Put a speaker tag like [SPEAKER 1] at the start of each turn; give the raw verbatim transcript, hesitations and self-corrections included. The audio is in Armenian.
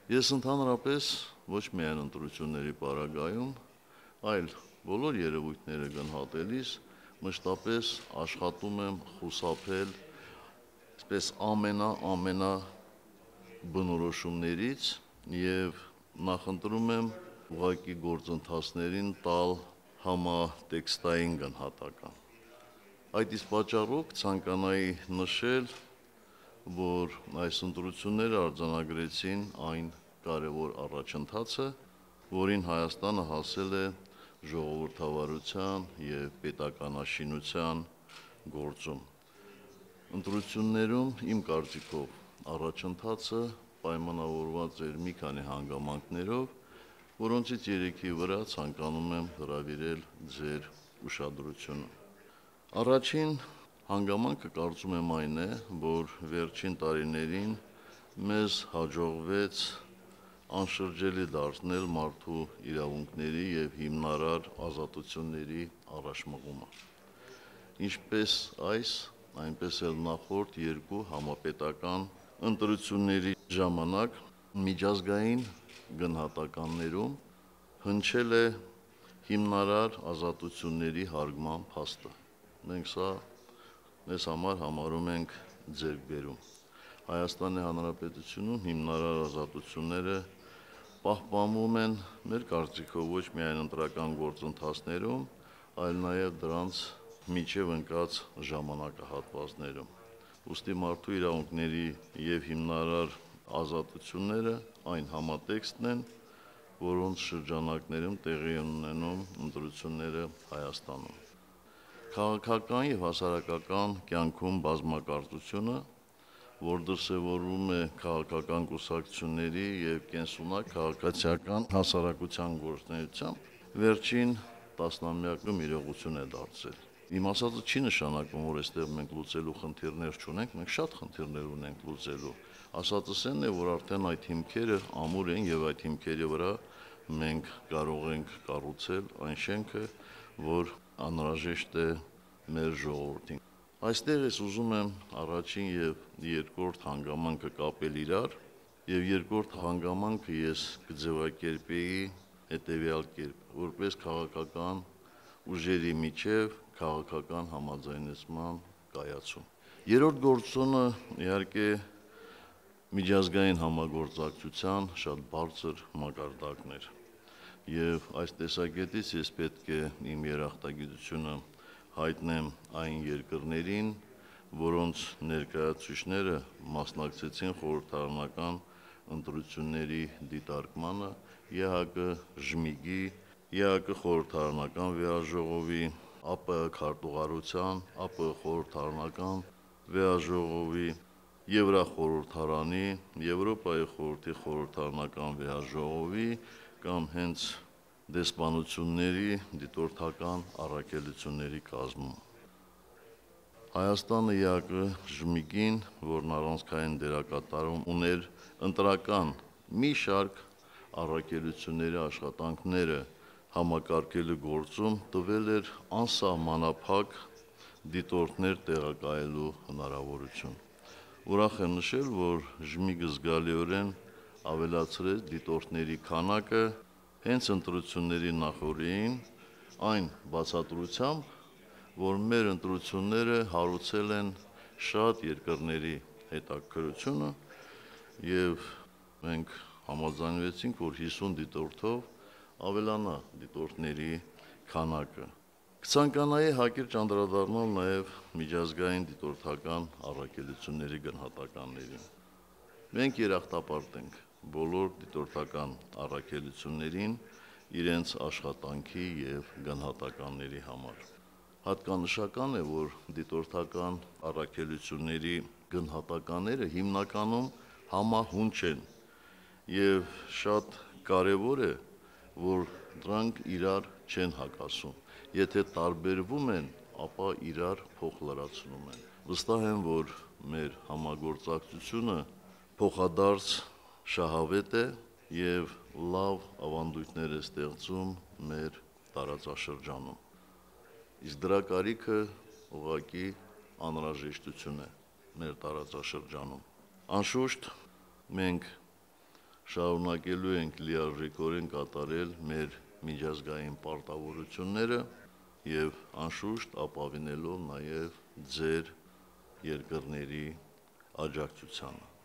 [SPEAKER 1] Ես ընդհանրապես ոչ միայն ընտրությունների պարագայում, այլ բոլոր երևույթները գնահատելիս մշտապես աշխատում եմ խուսափել այսպես ամենա ամենա բնորոշումներից եւ նախընտրում եմ ուղղակի գործընթացներին տալ համատեքստային գնահատական։ Այդ իսկ պատճառով ցանկանայի նշել, որ այս ընտրությունները արձանագրեցին այն կարևոր առաջընթացը, որին Հայաստանը հասել է ժողովրդավարության եւ պետականաշինության գործում։ Ընտրություններում իմ կարծիքով առաջընթացը պայմանավորված էր մի քանի հանգամանքներով, որոնցից երեքի վրա ցանկանում եմ հրավիրել ձեր ուշադրությունը։ Առաջին հանգամանքը կարծում եմ այն է, որ վերջին տարիներին մեզ հաջողվեց անշրջելի դարձնել մարդու իրավունքների եւ հիմնարար ազատությունների առաջմղումը։ Ինչպես այս, այնպես էլ նախորդ երկու համապետական ընտրությունների ժամանակ միջազգային գնահատականներում հնչել է հիմնարար ազատությունների հարգման փաստը։ Մենք սա մեզ համար համարում ենք ձեռքբերում։ Հայաստանի Հանրապետությունում հիմնարար ազատությունները պահպանվում են մեր կարծիքով ոչ միայն ընտրական գործընթացներում, այլ նաև դրանց միջև ընկած ժամանակահատվածներում։ Ուստի մարդու իրավունքների եւ հիմնարար ազատությունները այն համատեքստն են, որոնց շրջանակներում տեղի են ունենում ընտրությունները Հայաստանում։ Քաղաքական եւ հասարակական կյանքում բազմակարծությունը, որ դրսևորվում է քաղաքական կուսակցությունների եւ կենսունակ քաղաքացիական հասարակության գործունեությամբ, վերջին տասնամյակում իրողություն է դարձել։ Իմ ասածը չի նշանակում, որ այստեղ մենք լուծելու խնդիրներ չունենք, մենք շատ խնդիրներ ունենք լուծելու։ Ասածս այն է, որ արդեն այդ հիմքերը ամուր են եւ այդ հիմքերի վրա մենք կարող ենք կառուցել այն շենքը, որ անհրաժեշտ է մեր ժողովրդին։ Այստեղ ես ուզում եմ առաջին եւ երկրորդ հանգամանքը կապել իրար, եւ երկրորդ հանգամանքը ես կձևակերպեի հետեւյալ կերպ, որպես քաղաքական ուժերի միջև քաղաքական համաձայնեցման կայացում։ Երրորդ գործոնը իհարկե միջազգային համագործակցության շատ բարձր մակարդակն էր։ Եվ այս տեսակետից ես պետք է իմ երախտագիտությունը հայտնեմ այն երկրներին, որոնց ներկայացուցիչները մասնակցեցին խորհրդարանական ընտրությունների դիտարկմանը ԵՀԿ-ԺՄԻԳ-ի, ԵԱԿ խորհրդարանական վեհաժողովի, ԱՊՀ քարտուղարության, ԱՊՀ խորհրդարանական վեհաժողովի, Եվրախորհրդարանի, Եվրոպայի խորհրդի խորհրդարանական վեհաժողովի կամ հենց դեսպանությունների դիտորդական առաքելությունների կազմում։ Հայաստանը ԵԱԿ-ԺՄԻԳ-ին, որն առանցքային դերակատարում ուներ ընտրական մի շարք առաքելությունների աշխատանքները համակարգելու գործում, տվել էր անսահմանափակ դիտորդներ տեղակայելու հնարավորություն։ Ուրախ եմ նշել, որ ԺՄԻԳ-ը զգալիորեն ավելացրեց դիտորդների քանակը հենց ընտրությունների նախօրեին, այն բացատրությամբ, որ մեր ընտրությունները հարուցել են շատ երկրների հետաքրքրությունը եւ մենք համաձայնվեցինք, որ հիսուն դիտորդով ավելանա դիտորդների քանակը։ Կցանկանայի հակիրճ անդրադառնալ նաեւ միջազգային դիտորդական առաքելությունների գնահատականներին։ Մենք երախտապարտ ենք բոլոր դիտորդական առաքելություններին իրենց աշխատանքի եւ գնահատականների համար։ Հատկանշական է, որ դիտորդական առաքելությունների գնահատականները հիմնականում համահունչ են եւ շատ կարեւոր է, որ դրանք իրար չեն հակասում։ Եթե տարբերվում են, ապա իրար փոխլրացնում են։ Վստահ եմ, որ մեր համագործակցությունը փոխադարձ շահավետ է եւ լավ ավանդույթներ է ստեղծում մեր տարածաշրջանում։ Իսկ դրա կարիքը ուղղակի անհրաժեշտություն է մեր տարածաշրջանում։ Անշուշտ մենք շարունակելու ենք լիարժեքորեն կատարել մեր միջազգային պարտավորությունները եւ անշուշտ ապավինելով նաեւ ձեր երկրների աջակցությանը։